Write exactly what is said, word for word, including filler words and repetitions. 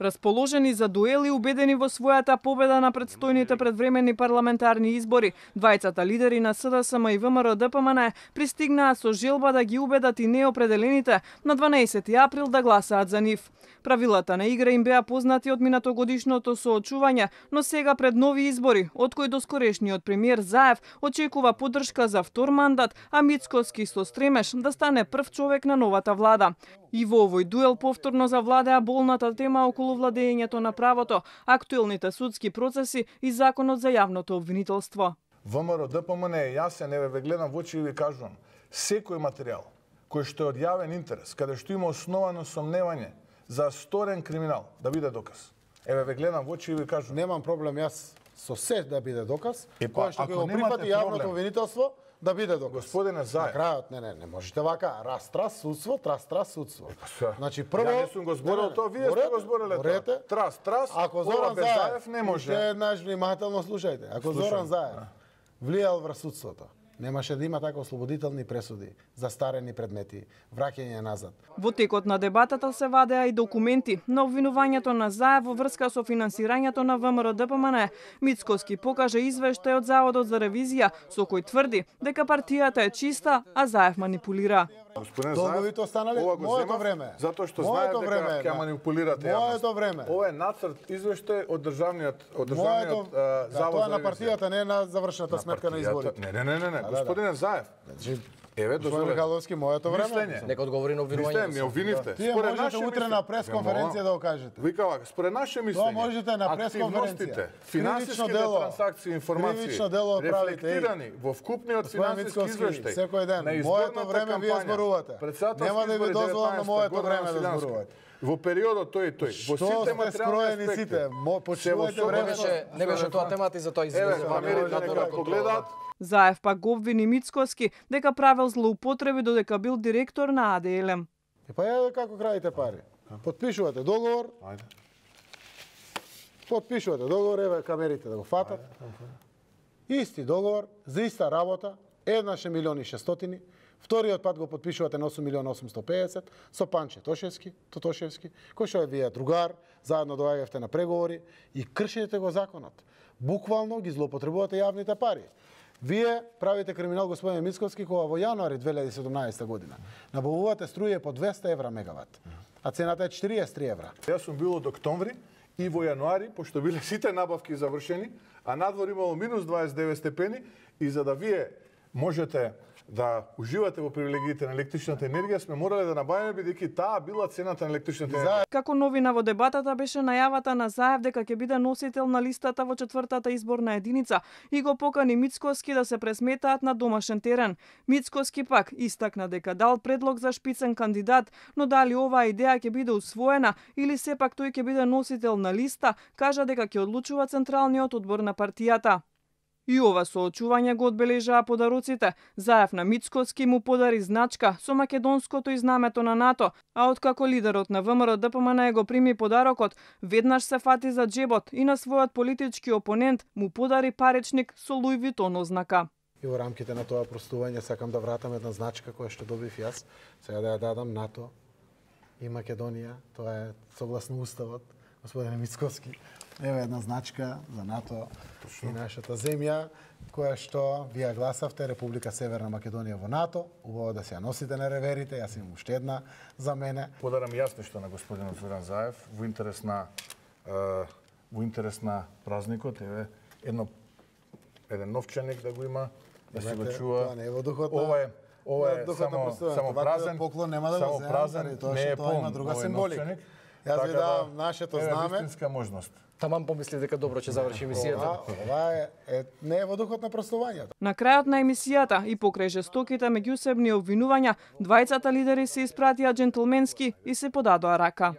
Расположени за дуел и убедени во својата победа на предстојните предвременни парламентарни избори, двајцата лидери на СДСМ и ВМРО Д П М Н пристигнаа со желба да ги убедат и неопределените на дванаесети април да гласаат за нив. Правилата на игра им беа познати од минатогодишното соочување, но сега пред нови избори, од кои доскорешниот премиер Заев очекува поддршка за втор мандат, а Мицкоски со стремеш да стане прв човек на новата влада. И во овој дуел повторно завладеа болната тема околу владењето на правото, актуелните судски процеси и законот за јавното обвинителство. ВМРО Д П М Н е јасен, еве ве гледам во очи и ви кажувам, секој материјал кој што е од јавен интерес, каде што има основано сомневање за сторен криминал, да биде доказ. Еве ве гледам во очи и ви кажувам. Немам проблем јас со се да биде доказ, Епа, кој што ако го прифати немате јавното проблем, обвинителство, да биде доказ. Господине Заев. На крајот, не, не, не можете вака, раз, трас, судство, трас, трас, судство. Епа, Значи, прво... Ја не сум го зборил тоа, вие сте го збориле тоа. Трас, трас, ако ова Зоран без Заев, Заев не може. Уште еднаш внимателно слушајте. Ако Слушам. Зоран Заев влијал врз судството, немаше да има така ослободителни пресуди, застарени предмети, враќање назад. Во текот на дебатата се вадеа и документи на обвинувањето на Заев во врска со финансирањето на ВМРО Д П М Н. Мицкоски покажа извештај од Заводот за ревизија со кој тврди дека партијата е чиста, а Заев манипулира. Господин Долговите останали ова го моето земав време. Затоа што Моето знаев време, дека ќе да. манипулирате јавност. Моето време. Ова е нацрт извештај од државниот од Моето, државниот да, завод тоа е за на ревизија. партијата, не на завршната На сметка на партијата. изборите. Не, не, не, не, не. да, Господине Заев. Значи, Еве, Господин дозволете. Михаловски, моето време. Мислење. Нека одговори на Вие обвинувањето. ме обвинивте. Тие Според можете наше утре мислење- на пресконференција да го кажете. Вика вака, според наше мислење. Тоа можете на пресконференција. Активностите, Кривично финансиските дело. трансакции, информации, Кривично дело правите, рефлектирани во вкупниот Господин финансиски Мицкоски, извештај. секој ден, на моето изборната време вие кампања, зборувате. председателски Нема да ви избори дозволам на деветнаесетта моето година време да Василјански. зборувате. Во периодот тој и тој, во Што сите сте материјални скроени аспекти. сите? Мо- почувате се време. Не беше, не беше тоа темата и за тоа Еве, известува. камерите нека го гледаат. Заев пак го обвини Мицкоски дека правел злоупотреби додека бил директор на А Д Л М. И па ја како крадите пари. Потпишувате договор, Ајде. потпишувате договор, еве камерите да го фатат. Исти договор, за иста работа, еднаш е милион и шестстотини, вториот пат го потпишувате на осум милиона осумстотини и педесет со Панче Тошевски, Тотошевски, кој што е вие другар, заедно доаѓавте на преговори и кршите го законот. Буквално ги злоупотребувате јавните пари. Вие правите криминал, господин Мицкоски, кога во јануари две илјади и седумнаесета година набавувате струја по двеста евра мегават, а цената е четириесет и три евра. Јас сум бил од октомври и во јануари, пошто биле сите набавки завршени, а надвор имало минус дваесет и девет степени, и за да вие можете да уживате во привилегиите на електричната енергија, сме морале да набавиме бидејќи таа била цената на електричната енергија. Како новина во дебатата беше најавата на Заев дека ќе биде носител на листата во четвртата изборна единица и го покани Мицкоски да се пресметаат на домашен терен. Мицкоски пак истакна дека дал предлог за шпицен кандидат, но дали оваа идеја ќе биде усвоена или сепак тој ќе биде носител на листа, кажа дека ќе одлучува Централниот одбор на партијата. И ова соочување го одбележаа подароците. Заев на Мицкоски му подари значка со македонското и знамето на НАТО, а откако лидерот на ВМРО Д П М Н го прими подарокот, веднаш се фати за джебот и на својот политички опонент му подари паричник со Луи Витон ознака. И во рамките на тоа простување сакам да вратам една значка која што добив јас, сега да ја дадам НАТО и Македонија, тоа е согласно уставот, господине Мицкоски. Еве една значка за НАТО и нашата земја, која што вие гласавте, Република Северна Македонија во НАТО. Убаво да се ја носите на реверите, јас имам уште една за мене. Подарам јас нешто на господинот Зоран Заев во интерес на е, во интерес на празникот, еве едно еден новчаник да го има, да се го чува. Тоа не е во духот на- Ова е ова е духот на само простувањето. само Ваквиот празен. поклон нема да го само земам, празен, заради тоа не што е тоа има полн друга овој символика. новчаник. Јас Така ви да, давам нашето еве знаме. вистинска можност. Таман помислив дека добро ќе заврши емисијата. Ова, ова е, е, не е во духот на простувањето. На крајот на емисијата и покрај жестоките меѓусебни обвинувања, двајцата лидери се испратија џентлменски и се подадоа рака.